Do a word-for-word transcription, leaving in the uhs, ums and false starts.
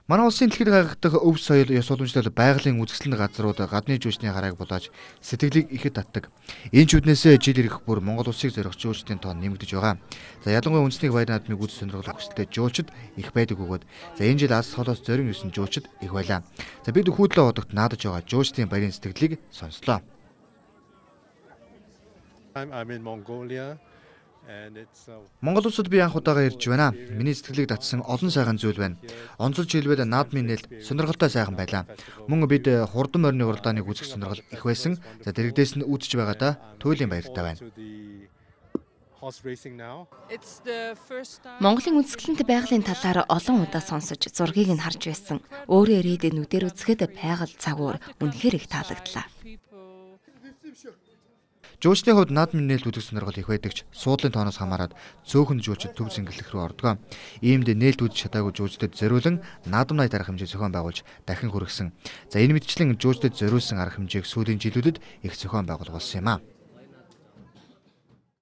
Манай улсын дэлхийд гаргадаг өв соёл ёс уламжлал байгалийн үзэсгэлэнт газрууд гадны жуулчны харааг болоож сэтгэлийг ихэд татдаг. Энэ ч үднээсээ жил ирэх бүр Монгол улсыг зорих жуулчдын тоон нэмэгдэж байгаа. За ялангуяа үндэсний баяр наадмыг үзэж сонирхох хүсэлтэй жуулчид их байдаг бөгөөд за энэ жил Алс холоос зорин ирсэн жуулчид их байлаа. За бид хүүдлээ одогт наадаж байгаа жуулчдын баярын сэтгэлийг сонслоо. I'm in Mongolia. Монгол улсад би анх удаага ирж байна. Миний сэтгэлийг татсан олон сайхан зүйл байна. Онцолж хэлбэл наадмын нээлт сонирхолтой сайхан байлаа. Мөн бид хурдан морины уралдааныг үзэх сонирхол их байсан. За дэрэгдээс нь үзэж байгаадаа туйлын баяртай байна. Монголын үзэсгэлэнт байгалийн талаар олон удаа сонсож зургийг нь харж байсан. Өөрөө ирээд нүдээр үзэхэд байгаль цагуур үнэхээр их таалагдлаа. Жуулчдын хувьд наадмын нээлт үзэх сонирхол их байдаг ч суудлын тооноос хамаарат цөөхөн жуулчид төв зингэлэх рүү ордог. Иймд нээлт үзэж чадаагүй жуулчдад зориулан наадам найд арга хэмжээ зохион байгуулж дахин хүргэсэн. За энэ мэтчлэн жуулчдад зориулсан арга хэмжээг сүүлийн жилүүдэд их зохион байгуулах болсон юм а.